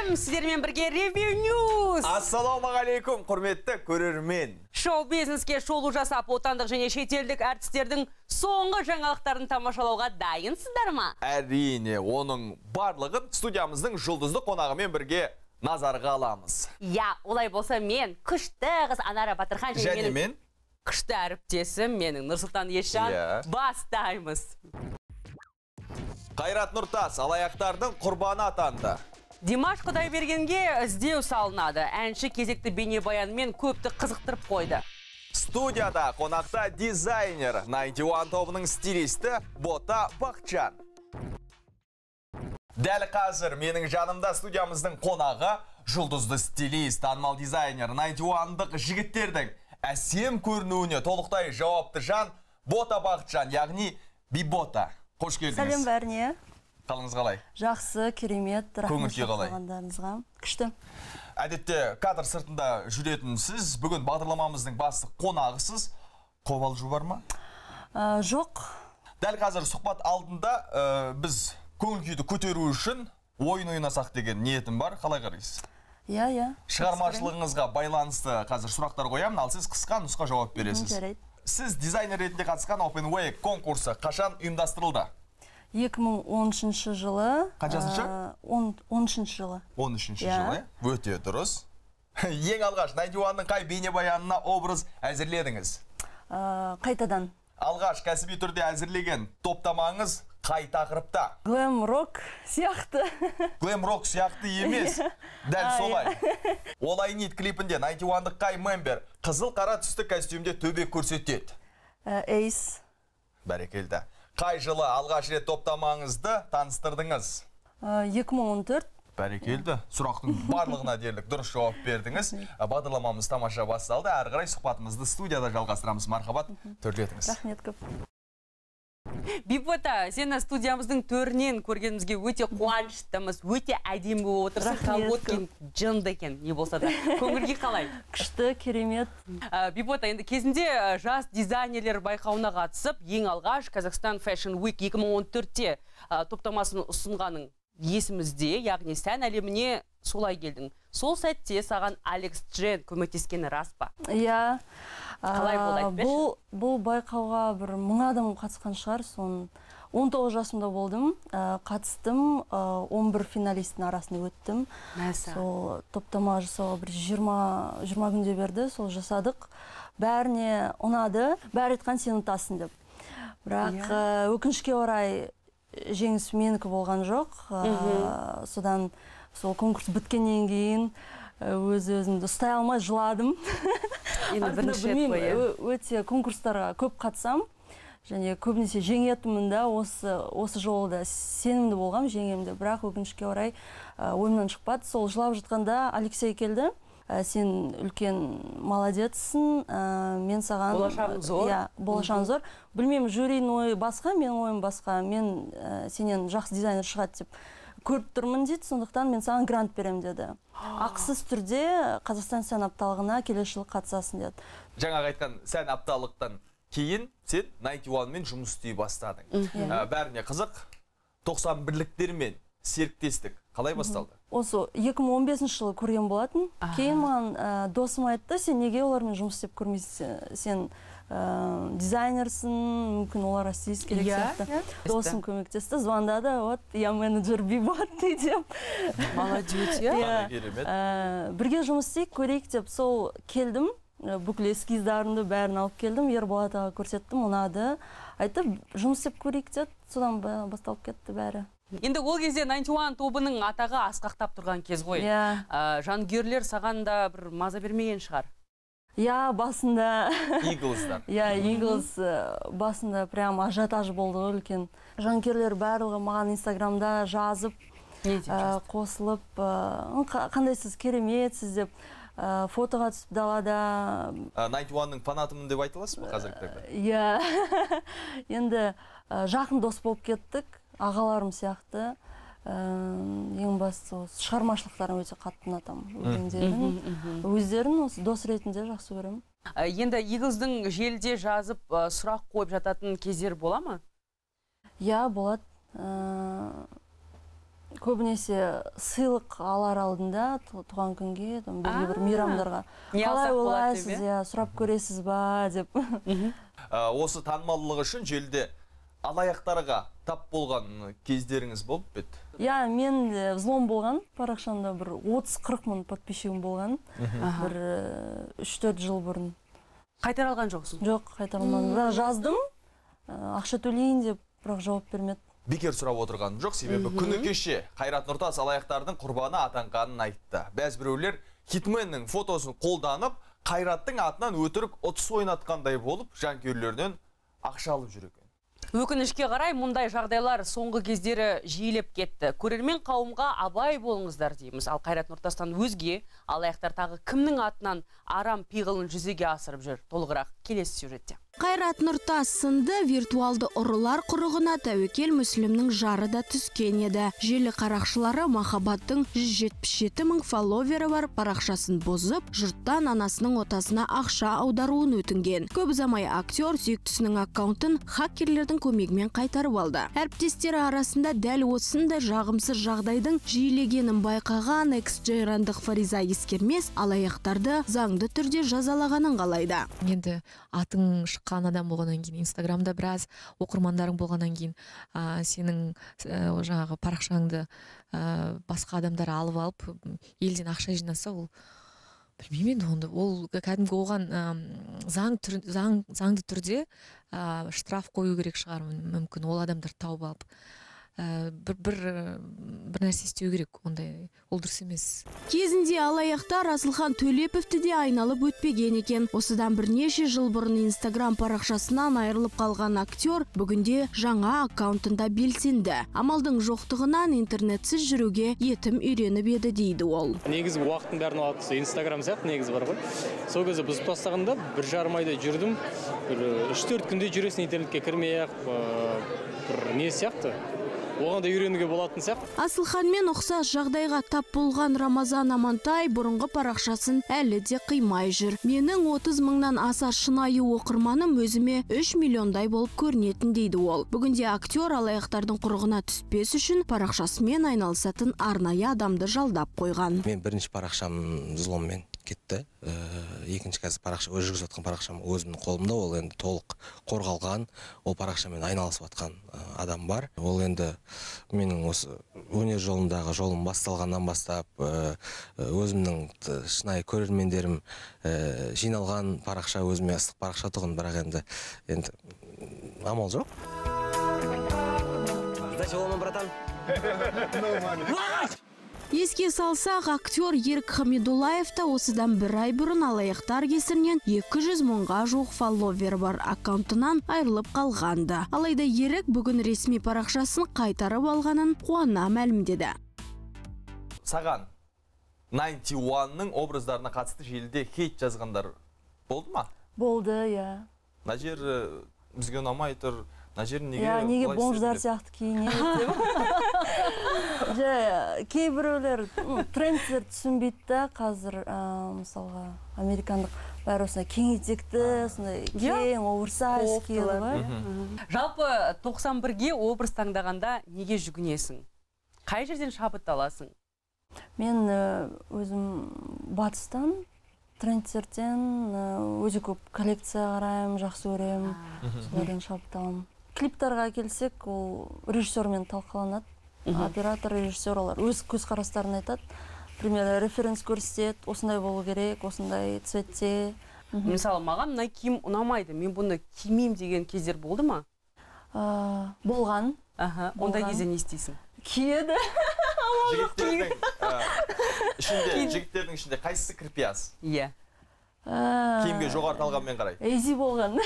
Сәлем, сіздермен бірге Review News. Ассалаумағалейкум, құрметті көрермен. Шоу-бизнеске шолу жасап, отандық және шетелдік әртістердің соңғы жаңалықтарын тамашалауға дайынсыздар ма? Әрине, оның барлығын студиямыздың жұлдызды қонағымен бірге назарға аламыз. Я, олай болса мен күшті қыз Анара Батырхан және мен күшті әріптесім менің Нұрсұлтан Есжан бастаймыз. Қайрат Нұртас алаяқтардың құрбаны атанды. Димаш Құдайбергенге іздеу салынады. Әнші кезекті бейнебаянымен көпті қызықтырып қойды. Студияда қонақта дизайнер 91 тобының стилисті Бота Бақчан. Дәл қазір менің жанымда студиямыздың қонағы жұлдызды стилист, танымал дизайнер 91-дық жігіттердің әсем көрінуіне толықтай жауапты жан Бота Бақчан, яғни Бибота. Қош келдіңіз. Сәлем бәріне. Қалыңыз қалай? Жақсы, керемет. Көңіл күй қалай? Күшті. Әдетте кадр сыртында жүретін сіз, бүгін бағдарламамыздың басты қонағысыз. Қобалжу бар ма? Жоқ. Дәл қазір сұхбат алдында біз көңіл күйді көтеру үшін ойын ойнасақ деген ниетім бар. Қалай қарайсыз? Иә. Шығармашылығыңызға байланысты қазір сұрақтар қоямын, ал сіз қысқа нұсқа жауап бересіз. Жарайды. Сіз дизайнер ретінде қатысқан Open Way конкурсы қашан ұйымдастырылды? 2013 жылы. Қаншасыншы? 13 жылы. 13 жылы. Өте дұрыс. Ең алғаш 91-ның қай бейнебаянына образ әзірледіңіз? Қайтадан. Алғаш кәсіби түрде әзірлеген топтамаңыз қай тақырыпта? Глэм-рок сияқты. Глэм-рок сияқты емес. Дәл солай. Олай нит клипінде 91-дық қай мембер қызыл қара түсті костюмде төбе көрсетеді? Эйс. Бәрекелді. Қай жылы алғаш рет топтамаңызды таныстырдыңыз? 2014. Бәрекелді. Сұрақтың барлығына дерлік дұрыс жауап бердіңіз. Бағдарламамыз тамаша басталды. Әрі қарай сұхбатымызды студияда жалғастырамыз. Мархабат, төрлетіңіз. Рахмет көп. Бибота, сені студиямыздың төрінен көргенімізге өте қуаныштымыз, өте әдемі болып отырсың. Колготкин жынды екен, не болса да. Көңілге қалай? Күшті, керемет. Бибота, енді кезінде жас дизайнерлер байқауына қатысып, ең алғаш Қазақстан Fashion Week 2014-те топтамасын ұсынғаның есімізде, яғни сән әлеміне солай келдің. Сол сәтте саған Алекс Джен көмектескені рас па? Иә. Қалай болды айтпеші? Бұл байқауға бір 1000 адам қатысқан шығар. 19 жасымда болдым. Қатыстым, 11 финалисттің арасында өттім. Сол топтама жасауға бір 20 күнде берді, сол жасадық. Бәріне ұнады, бәрі айтқан сен ұтасың деп. Бірақ өкінішке орай жеңіс менікі болған жоқ. Содан сол конкурс біткеннен кейін өз-өзімді ұстай алмай жыладым. Өте конкурстарға көп қатысам, және көбінесе жеңетімін да, осы жолы да сенімді болғам жеңемді. Бірақ өкінішке орай ойымнан шықпады. Сол жылап жатқанда Алексей келді. Сен үлкен молодецсің, мен саған... Болашағың зор. Болашағың зор. Білмеймін, жюридің ойы басқа, менің ойым басқа. Мен сенен жақсы дизайнер шығады деп көріп тұрмын дейді, сондықтан мен саған грант берем деді. Ақысыз түрде Қазақстан сән апталығына келесі жылы қатысасың деді. Жаңағы айтқан сән апталықтан кейін сен 91-мен жұмыс істей бастадың. Бәріне қызық, 91-ліктермен серіктестік қалай басталды? Осы 2015 жылы көрген болатын. Кейін маған досым айтты, сен неге олармен жұмыс істеп көрмейсің? Сен дизайнерсің, мүмкін оларға стилист керек сияқты. Досым көмектесті, звондады, вот, я менеджер Бибота деп. Молодец, бірге жұмыс істейік, көрейік деп сол келдім. Бүкіл эскиздарымды бәрін алып келдім, Ерболат аға көрсеттім, ұнады. Айтып, жұмыс істеп көрейік деді, содан басталып кетті бәрі. Енді ол кезде 91 тобының атағы асқақтап тұрған кез ғой. Жанкүйерлер саған да бір маза бермеген шығар. Басында. Иглстар. Иглс басында прям ажиотаж болды үлкен. Жанкүйерлер барлығы маған Инстаграмда жазып, қосылып, қандайсыз, кереметсіз деп фотоға түсіп далада. 91-ның фанатымын деп айтыласыз ба қазіргі таңда? Енді жақын дос болып кеттік. Ағаларым сияқты, ең басты шығармашылықтарын өте қатты ұнатамын. Өздерін дос ретінде жақсы көремін. Енді Иглздың желіде жазып сұрақ қойып жататын кездер бола ма? Болады. көбінесе сыйлық алар алдында туған күнге, белгілі бір мейрамдарға қалай ойлайсыз, сұрап көресіз ба деп. Осы танымалдылығы үшін желіде алаяқтарға тап болған кездеріңіз болып бет? Мен взлом болған, парақшамда бір 30-40 мың подписчигім болған, бір 3-4 жыл бұрын. Қайтара алған жоқсың? Жоқ, қайтара алмадым. Бірақ жаздым, ақша төлейін деп, бірақ жауап бермеді. Бекер сұрап отырған жоқ, себебі күні кеше Қайрат Нұртас алаяқтардың құрбаны атанғанын айтты. Бәз біреулер хитменнің фотосын қолданып, Қайраттың атынан өтірік ұтыс ойнатқандай болып, жанкүйерлерден ақша алып жүр екен. Өкінішке қарай, мұндай жағдайлар соңғы кездері жиілеп кетті. Көрермен қауымға абай болыңыздар дейміз. Ал Қайрат Нұртастан өзге алаяқтар тағы кімнің атынан арам пиғылын жүзеге асырып жүр? Толығырақ келесі сюжетте. Қайрат Нұртас сынды виртуалды ұрылар құрығына тәуекел Мүслімнің жары да түскен еді. Желі қарақшылары махаббаттың 177 мың фолловері бар парақшасын бұзып, жұрттан анасының отасына ақша аударуын өтінген. Көп ұзамай актер сүйіктісінің аккаунтын хакерлердің көмегімен қайтарып алды. Әріптестері арасында дәл осындай жағымсыз жағдайдың жиілегенін байқаған экс-жайрандық Фариза Ескермес алаяқтарды заңды түрде жазалағанын қалайды. Енді атың шыққан адам болғаннан кейін, Инстаграмда біраз оқырмандарың болғаннан кейін, сенің жаңағы парақшаңды басқа адамдар алып, елден ақша жинаса, ол білмеймін енді, ол кәдімгі оған заңды түрде штраф қою керек шығар, мүмкін ол адамдар тауып алып. Бір нәрсе істеу керек, ондай ол дұрыс емес. Кезінде алаяқтар Асылхан Төлеповті де айналып өтпеген екен. Осыдан бірнеше жыл бұрын Инстаграм парақшасынан айырылып қалған актер бүгінде жаңа аккаунтында белсенді. Амалдың жоқтығынан интернетсіз жүруге етім үйреніп еді дейді ол. Негізі уақыттың бәрін алады, Инстаграм сияқты негізі бар ғой. Сол кезде бұзып тастағанда 1,5 айда жүрдім. 3-4 күнде жүресің, интернетке кірмей-ақ, бір не сияқты. Оған да үйренуге болатын сияқты. Асылханмен ұқсас жағдайға тап болған Рамазан Амантай бұрынғы парақшасын әлі де қимай жүр. Менің 30 мыңнан аса шынайы оқырманым өзіме 3 миллиондай болып көрінетін дейді ол. Бүгінде актер алаяқтардың құрығына түспес үшін парақшасымен айналысатын арнайы адамды жалдап қойған. Мен бірінші парақшам взломмен кетті. Екінші қазір парақша, жүргізіп жатқан парақшам өзімнің қолымда, ол енді толық қорғалған, ол парақшамен айналысып жатқан адам бар. Ол енді менің осы өнер жолындағы жолым басталғаннан бастап, өзімнің шынайы көрермендерім жиналған парақша, өзіме ыстық парақша тұғын, бірақ енді амал жоқ. Сдача лома, братан. Еске салсақ, актер Ерік Хамидуллаевта осыдан 1 ай бұрын алаяқтар кесірінен 200 мыңға жуық фолловер бар аккаунтынан айырылып қалғанды. Алайда Ерік бүгін ресми парақшасын қайтарып алғанын қуана мәлімдеді. Саған 91-ның образдарына қатысты желіде хейт жазғандар болды ма? Болды, иә. Мына жер бізге ұнамай тұр. Неге бомждар сияқты киінеді деп. Кейбіреулер трендтер түсінбейді, қазір мысалға американдық бәрі осындай кең етекті, кең оверсайз киеді ғой. Жалпы 91-ге образ таңдағанда неге жүгінесің? Қай жерден шабыт аласың? Мен өзім батыстан, трендтерден өте көп коллекция қараймын, жақсы көремін, солардан шабыт аламын. Клиптарға келсек, ол режиссермен талқыланады. Оператор, режиссер олар өз көзқарастарын айтады. Пример, референс көрсетеді, осындай болу керек, осындай цветте. Мысалы, маған мына киім ұнамайды, мен бұны кимеймін деген кездер болды ма? Болған. Ондай кезде не істейсің? Киеді. Жігіттердің ішінде қайсысы кірпияз? Иә. Киімге жоғары талғанмен қарай. Эйзи болған.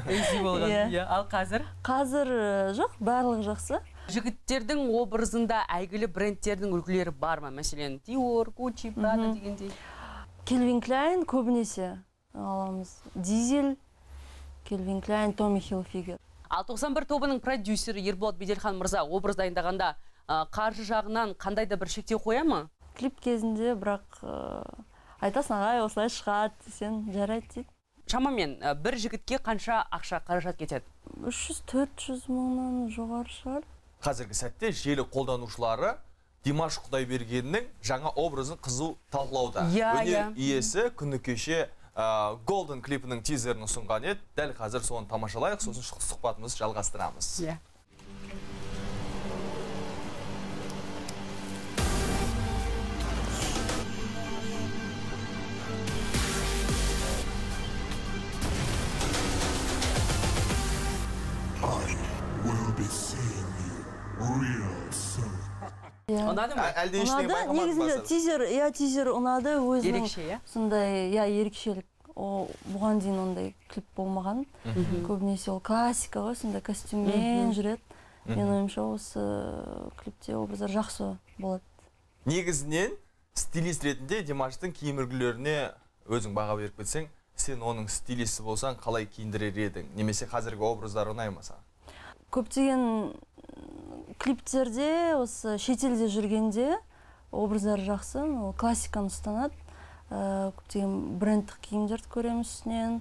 Эйзи болған. Ал қазір? Қазір жоқ, барлығы жақсы. Жігіттердің образында әйгілі брендтердің үлгілері бар ма? Мәселен, Dior, Gucci, Prada дегендей. Calvin Klein көбінесе аламыз. Дизель, Calvin Klein, Tommy Hilfiger. Ал 91 тобының продюсері Ерболат Беделхан мырза образ дайындағанда қаржы жағынан қандай да бір шектеу қоя ма? Клип кезінде, бірақ айтасың, ағай, осылай шығады десең, жарайды дейді. Шамамен бір жігітке қанша ақша қаражат кетеді? 300-400 мыңнан жоғары шығар. қазіргі сәтте желі қолданушылары Димаш Құдайбергеннің жаңа образын қызу талқылауда. Өнер иесі күні кеше Golden клипінің тизерін ұсынған еді. Дәл қазір соны тамашалайық, сосын сұхбатымызды жалғастырамыз. Ұнады ма? Негізінде тизер ұнады, өзінің сондай ерекшелік. Бұған дейін ондай клип болмаған. Көбінесе ол классика ғой, сондай костюммен жүреді. Мен ойымша осы клипте образдар жақсы болады. Негізінен стилист ретінде Димаштың киім үлгілеріне өзің баға беріп кетсең, сен оның стилисті болсаң қалай киіндірер едің? Немесе қазіргі образдар ұнаймаса? Көптеген клиптерде, осы шетелде жүргенде образдар жақсы, классиканы ұстанады. Көптеген брендтік киімдерді көреміз үстінен.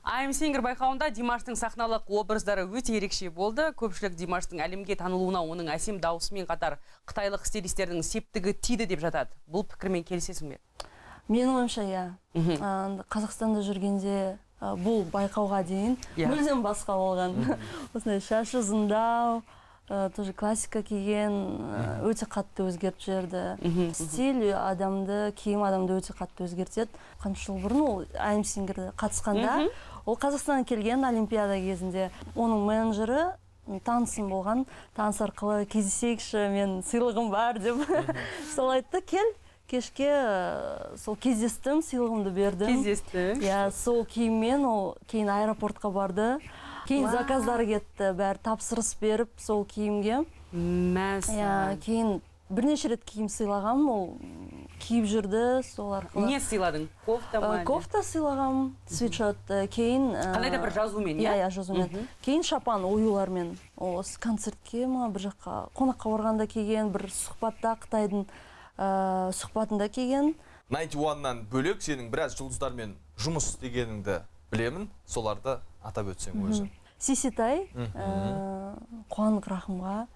I'm Singer байқауында Димаштың сахналық образдары өте ерекше болды. Көпшілік Димаштың әлемге танылуына оның әсем дауысымен қатар қытайлық стилистердің септігі тиді деп жатады. Бұл пікірмен келісесің бе? Менің ойымша, Қазақстанда жүргенде бұл байқауға дейін мүлдем басқа болған. Осындай шашы ұзындау, тоже классика киген, өте қатты өзгеріп жіберді. Стиль адамды, киім адамды өте қатты өзгертеді. Қанша жыл бұрын ол I'm Singer қатысқанда, ол Қазақстаннан келген олимпиада кезінде. Оның менеджері танысым болған, таныс арқылы кездесейікші, мен сыйлығым бар деп. Сол айтты, кел, кешке сол кездестім, сыйлығымды бердім. Кездесті. Сол киіммен ол кейін аэропортқа барды. Кейін заказдар кетті, бәрі тапсырыс беріп сол киімге. Кейін бірнеше рет киім сыйлағам, ол киіп жүрді, сол арқылы. Не сыйладың? Кофта ма? Кофта сыйлағам, свитшот. Кейін... Қандай да бір жазумен, жазумен. Кейін шапан оюлармен. Осы концертке ма, бір жаққа қонаққа барғанда киген, бір сұхбатта Қытайдың сұхбатында киген. 91-нан бөлек сенің біраз жұлдыздармен жұмыс істегеніңді білемін, соларды атап өтсең өзі. Сиситай, Қуандық Рахымға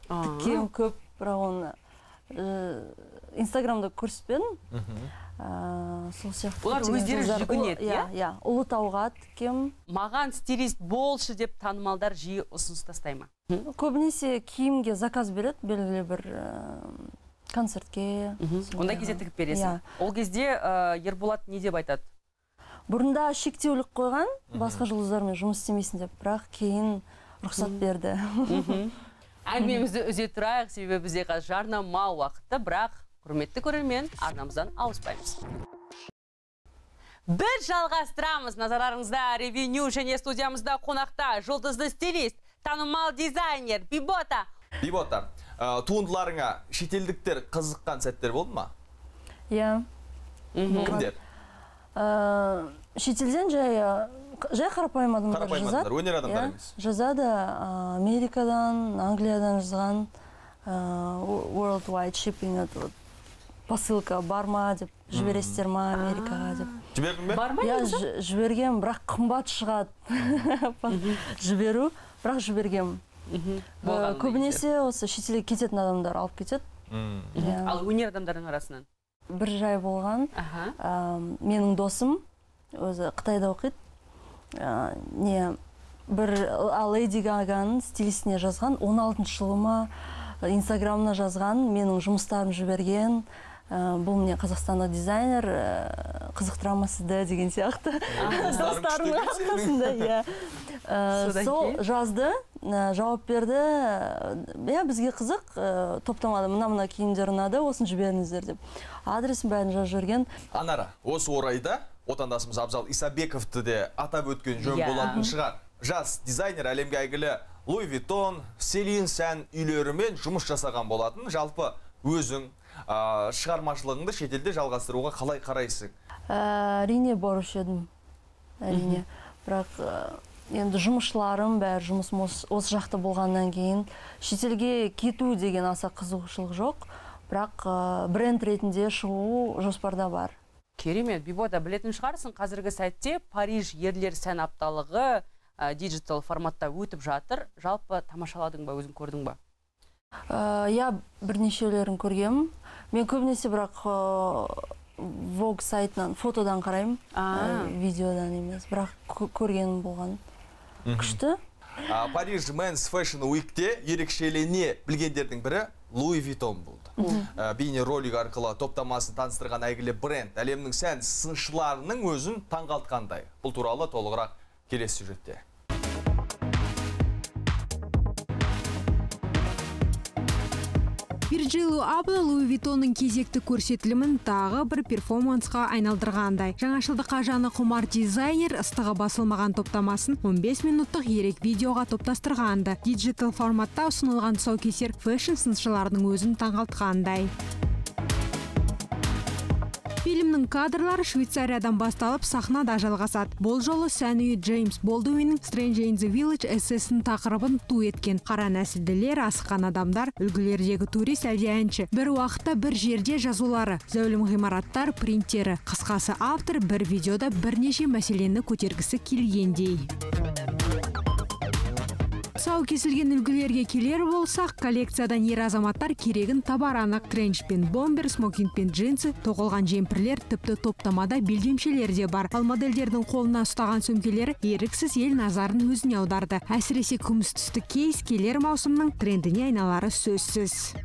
тіккем көп, бірақ оны Инстаграмда көрсетпедім. Сол сияқты. Олар өздері жүгінеді, иә? Ұлытауға тіккем. Маған стилист болшы деп танымалдар жиі ұсыныс тастай ма? Көбінесе киімге заказ береді, белгілі бір концертке. Онда кезде тігіп бересің. Ол кезде Ерболат не деп айтады? Бұрында шектеулік қойған, басқа жұлдыздармен жұмыс істемейсің деп, бірақ кейін рұқсат берді. Әңгімемізді үзе тұрайық, себебі бізде қазір жарнама уақытты, бірақ құрметті көрермен, арнамыздан ауыспаймыз. Біз жалғастырамыз. Назарларыңызда ревеню және студиямызда қонақта жұлдызды стилист, танымал дизайнер Бибота. Бибота, туындыларыңа шетелдіктер қызыққан сәттер болды ма? Иә. Кімдер? Шетелден жай қарапайым адамдар жазады. Өнер адамдар емес. Жазады Америкадан, Англиядан жазған Worldwide Shipping, посылка бар ма деп, жібересіздер ма Америкаға деп. Жібердің бе? Бар ма? Жіберген, бірақ қымбат шығады жіберу, бірақ жіберген. Көбінесе осы шетелге кететін адамдар алып кетеді. Ал өнер адамдардың арасынан? Бір жай болған, менің досым, өзі Қытайда оқиды, бір Лейди Гаганың стилистіне жазған, 16 жылыма Инстаграмына жазған, менің жұмыстарым жіберген, бұл мне Қазақстанда дизайнер, қызықтыра сізді деген сияқты. Достарымның арқасында, сол жазды, жауап берді, бізге қызық, топтамада мына киімдер ұнады, осын жіберіңіздер деп. Адресін бәрін жазып жүрген. Анара, осы орайда отандасымыз Абзал Исабековті де атап өткен жөн болатын шығар. Жас дизайнер әлемге әйгілі Луи Виттон, Селин Сән үйлерімен жұмыс жасаған болатын. Жалпы өзің шығармашылығыңды шетелде жалғастыруға қалай қарайсың? Әрине барушы едім. Әрине. Бірақ енді жұмысшыларым бәрі жұмыс осы жақта болғаннан кейін шетелге кету деген аса қызығушылық жоқ. Бірақ бренд ретінде шығу жоспарда бар. Керемет, Бибота, білетін шығарсың, қазіргі сәтте Париж ерлер сән апталығы диджитал форматта өтіп жатыр. Жалпы тамашаладың ба, өзің көрдің ба? Я бірнешеулерін көргем. Мен көбінесе бірақ Vogue сайтынан, фотодан қараймын, видеодан емес. Бірақ көргенім болған. Күшті. Париж Men's Fashion Week'те ерекшелене білгендердің бірі Louis Vuitton болды. Бейне ролик арқылы топтамасын таныстырған әйгілі бренд әлемнің сән сыншыларының өзін таңғалтқандай. Бұл туралы толығырақ келесі сюжетте. Virgil Abloh Louis Vuittonның кезекті көрсетілімін тағы бір перформансқа айналдырғандай. Жаңашылдыққа жаны құмар дизайнер ыстығы басылмаған топтамасын 15 минуттық ерек видеоға топтастырғанды. Диджитал форматта ұсынылған тұсаукесер фэшн сыншыларының өзін таңғалтқандай. Фильмнің кадрлары Швейцариядан басталып сахнада жалғасады. Бұл жолы сән үйі Джеймс Болдуиннің Strange in the Village эссесінің тақырыбын ту еткен. Қара нәсілділер, асыққан адамдар, үлгілердегі турист әлде әнші. Бір уақытта бір жерде жазулары, зәулім ғимараттар, принтері. Қысқасы автор бір видеода бірнеше мәселені көтергісі келгендей. Сау кесілген үлгілерге келер болсақ, коллекциядан ер азаматтар керегін табар анық. Тренч пен бомбер, смокинг пен джинсы, тоқылған жемпірлер, тіпті топтамада белдемшелер де бар. Ал модельдердің қолына ұстаған сөмкелері еріксіз ел назарын өзіне аударды. Әсіресе күміс түсті кейс келер маусымның трендіне айналары сөзсіз.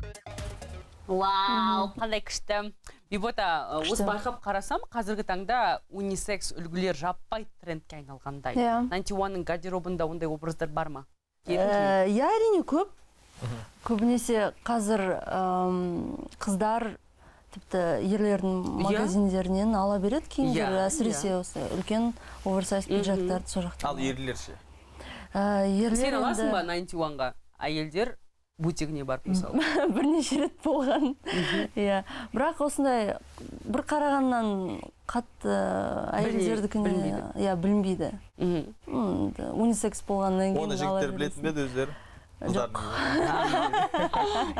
Вау, қандай күшті. Бибота, осы байқап қарасам, қазіргі таңда унисекс үлгілер жаппай трендке айналғандай. 91-ның гардеробында ондай образдар бар ма? Я әрине көп. Көбінесе қазір қыздар тіпті ерлердің магазиндерінен ала береді киімдер, әсіресе осы үлкен оверсайз пиджактарды сол жақта. Ал ерлер ше? Сен аласың ба 91-ға? Әйелдер бутигіне барып мысалы? Бірнеше рет болған. Бірақ осындай бір қарағаннан қатты әйелдердікіне білінбейді. Унисекс болғаннан кейін оны жігіттер білетін беді өздері? Жоқ.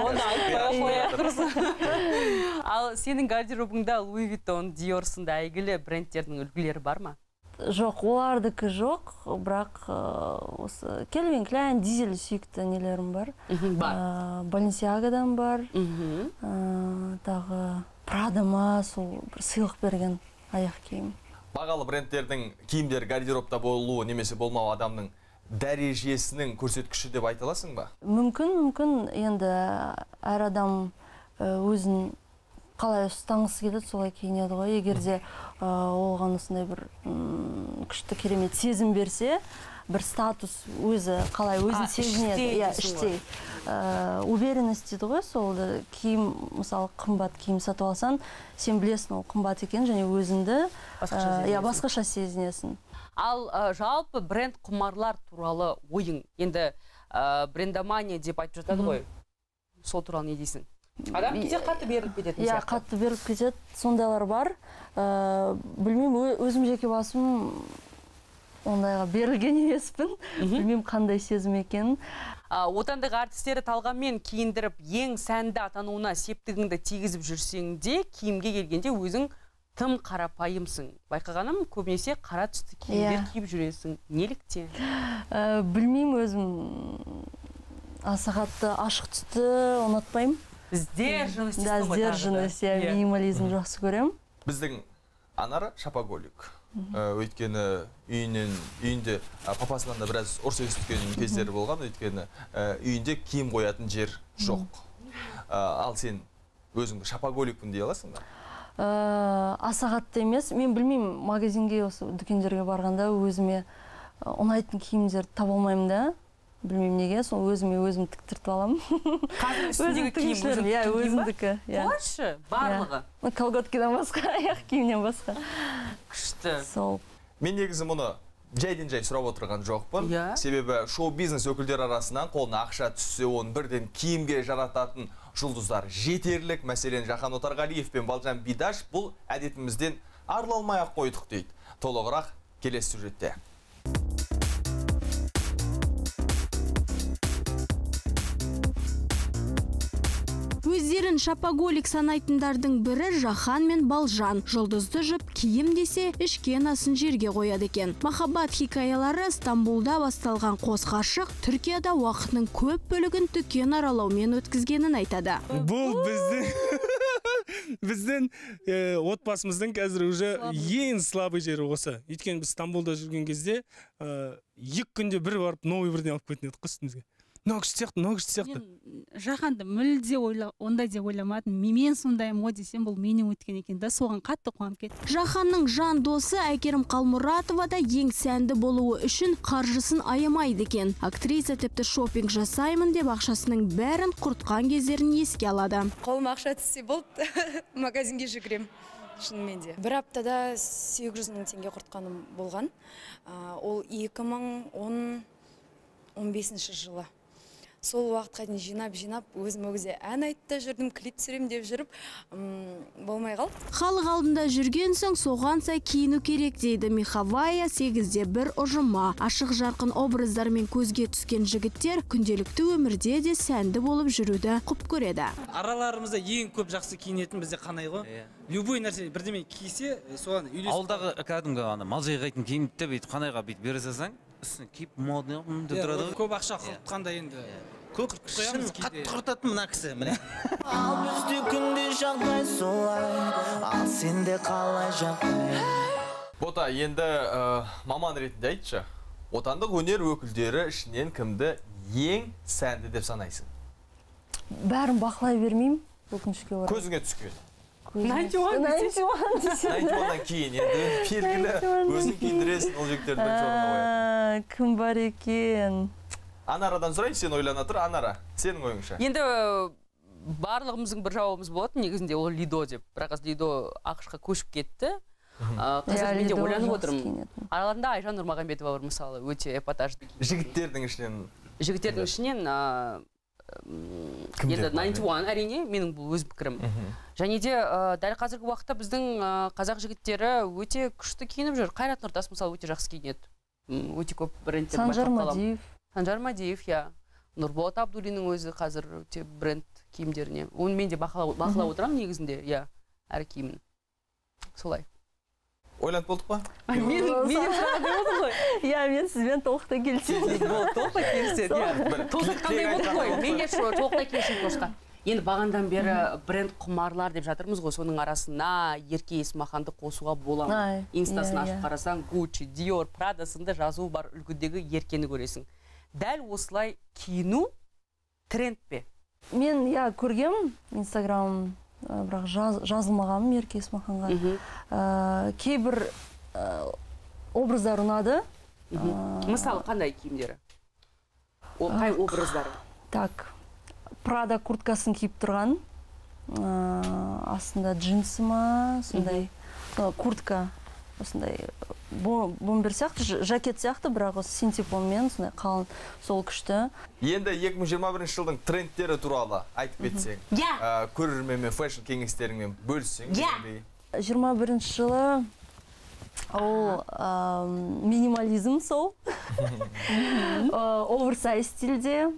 Оны айтпай қояқ тұрсын. Ал сенің гардеробыңда Louis Vuitton, Dior сынды әйгілі брендтердің үлгілері бар ма? Жоқ, олардікі жоқ, бірақ осы Calvin Klein, Дизель сүйікті нелерім бар. Balenciagaдан бар. Тағы Prada-ма сол бір сыйлық берген аяқ киім. Бағалы брендтердің киімдер гардеробта болуы немесе болмау адамның дәрежесінің көрсеткіші деп айта аласың ба? Мүмкін, енді әр адам өзін қалай ұстаңғысы келеді, солай киінеді ғой. Егерде оған осындай бір күшті керемет сезім берсе, бір статус өзі қалай өзін сезінеді. Іштей. Уверенность дейді ғой, сол киім, мысалы қымбат киім сатып алсаң, сен білесің ол қымбат екен, және өзіңді басқаша сезінесің. Ал жалпы бренд құмарлар туралы ойың, енді брендомания деп айтып жатады ғой, сол туралы не дейсің? Адам кейде қатты беріліп кететін сияқты. Қатты беріліп кетеді, сондайлар бар. Білмеймін, өзім жеке басым ондайға берілген емеспін. Білмеймін қандай сезім екенін. Отандық артистері талғаммен киіндіріп, ең сәнді атануына септігіңді тигізіп жүрсең де, киімге келгенде өзің тым қарапайымсың. Байқағаным, көбінесе қара түсті киімдер киіп жүресің. Неліктен? Білмеймін, өзім аса қатты ашық түсті ұнатпаймын. Сдержанность. Да, сдержанность, минимализм жақсы көрем. Біздің Анара шапоголик. Өйткені үйінде папасынан да біраз ұрыс естіген кездері болған, өйткені үйінде киім қоятын жер жоқ. Ал сен өзіңді шапоголикпін дей аласың ба? Аса қатты емес. Мен білмеймін, магазинге, осы дүкендерге барғанда өзіме ұнайтын киімдерді таба алмаймын да. Білмеймін неге, сол өзім тіктіртіп аламын. Қазір үстіндегі киім өзімдікі. Қойшы, барлығы? Колготкадан басқа, аяқ киімнен басқа. Күшті. Мен негізі мұны жайден-жай сұрап отырған жоқпын. Себебі шоу-бизнес өкілдер арасынан қолына ақша түссе, оны бірден киімге жарататын жұлдыздар жетерлік. Мәселен, Жахан Отарғалиев пен Балжан Бидаш бұл әдетімізден арылмай-ақ қойдық дейді. Толығырақ келесі сюжетте. Өздерін шапоголик санайтындардың бірі Жахан мен Балжан. Жұлдызды жұп киім десе, ішкен асын жерге қояды екен. Махаббат хикаялары Стамбулда басталған қос ғашық Түркияда уақытының көп бөлігін дүкен аралаумен өткізгенін айтады. Бұл біздің отбасымыздың қазір уже ең слабый жері осы. Өйткені біз Стамбулда жүрген кезде 2 күнде бір барып новый бірден алып кететін едік үстімізге. Мынау күшті сияқты. Жаһанды мүлде ондай деп ойламадым. Мен сондай мо десем, бұл менен өткен екен да, соған қатты қуанып кеттім. Жаһанның жан досы Әйгерім Қалмұратова да ең сәнді болуы үшін қаржысын аямайды екен. Актриса тіпті шопинг жасаймын деп ақшасының бәрін құртқан кездерін еске алады. Қолыма ақша түссе болды, магазинге жүгірем. Шынымен де. Бір аптада 800 мың теңге құртқаным болған. Ол 2015 жылы. Сол уақытқа дейін жинап, өзіме ән айтты жүрдім, клип түсірем деп жүріп, болмай қалды. Халық алдында жүрген соң соған сай киіну керек дейді Михавая 8-де 1 ұжыма. Ашық жарқын образдармен көзге түскен жігіттер күнделікті өмірде де сәнді болып жүруді құп көреді. Араларымызда ең көп жақсы киінетін бізде қанай ғой. Любой нәрсе бірдеме кисе, соған үйлесіп. Ауылдағы кәдімгі мал жайғайтын киімді бүйтіп қанайға бүйтіп бере салсаң, үстіне киіп модный деп тұрады. Көп ақша құртқанда енді көп шын қатты құртатын мына кісі, міне. Ал бізде күнде жағдай солай, ал сенде қалай жағдай. Бота, енді маман ретінде айтшы, отандық өнер өкілдері ішінен кімді ең сәнді деп санайсың? Бәрін бақылай бермеймін, өкінішке орай. Көзіңе түскен. 91-дан кейін енді белгілі өзің киіндіресің ол жігіттерді бірінші орынға қояды. Кім бар екен? Анарадан сұрайын, сен ойлана тұр. Анара, сенің ойыңша? Енді барлығымыздың бір жауабымыз болады, негізінде ол Лидо деп. Бірақ Лидо ақшқа көшіп кетті. Қазір мен де ойланып отырмын. Араларында Айжан Нұрмағамбетова бар, мысалы, өте эпатажды. Жігіттердің ішінен енді 91 әрине менің бұл өз пікірім. Және де дәл қазіргі уақытта біздің қазақ жігіттері өте күшті киініп жүр. Қайрат Нұртас мысалы өте жақсы киінеді. Өте көп брендтер байқап. Санжар Мадиев, Нұрболат Абдуллиннің өзі қазір өте бренд киімдеріне. Оны мен де бақылап отырамын негізінде, әр киімін. Солай. Ойланып болдық па? Мен сұрады ғой. Мен сізбен толықтай келісемін. Толықтай келіседі. Толықтай қандай болды ғой? Мен де толықтай келісемін қошқа. Енді бағандан бері бренд құмарлар деп жатырмыз ғой, соның арасына Ерке Есмаханды қосуға боламын. Инстасын ашып қарасаң, Gucci, Dior, Prada сынды жазуы бар үлгідегі Еркені көресің. Дәл осылай киіну тренд бе? Мен көргем Инстаграм, бірақ жазылмағаным Ерке Есмаханға. Кейбір образдар ұнады. Мысалы, қандай киімдері? Қай образдары? Так, Prada курткасын киіп тұрған. Астында джинсы ма, сондай куртка, осындай бомбер сияқты, жакет сияқты, бірақ осы синтепонмен сондай қалын, сол күшті. Енді 2021 жылдың трендтері туралы айтып кетсең, көрерменмен, фэшн кеңестеріңмен бөліссең. 21 жылы ол минимализм сол, оверсайз стильде,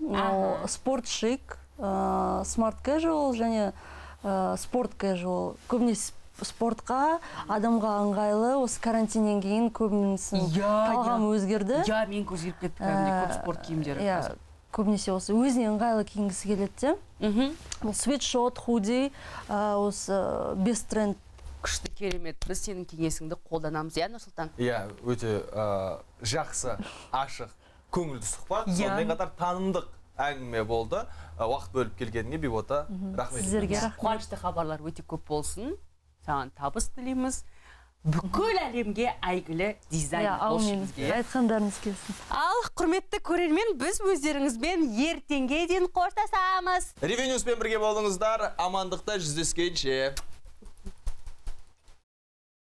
спорт шик, смарт casual және спорт casual. Көбінесе спортқа адамға ыңғайлы, осы карантиннен кейін көбінесін талғам өзгерді. Мен көзгеріп кетті кәдімде көп спорт киімдері. Көбінесе осы өзіне ыңғайлы киінгісі келеді. Бұл свитшот, худи, осы бест тренд. Күшті, керемет. Біз сенің кеңесіңді қолданамыз, Нұрсұлтан? Өте жақсы, ашық, көңілді сұхбат. Сонымен қатар танымдық әңгіме болды. Уақыт бөліп келгеніңе Бибота, рахмет. Сіздерге рахмет. Қуанышты хабарлар өте көп болсын. Саған табыс тілейміз. Бүкіл әлемге әйгілі дизайнер болсын бізге. Айтқандарыңыз келсін. Ал, құрметті көрермен, біз өздеріңізбен ертеңге дейін қоштасамыз. Ревенюспен бірге болыңыздар, амандықта жүздескенше.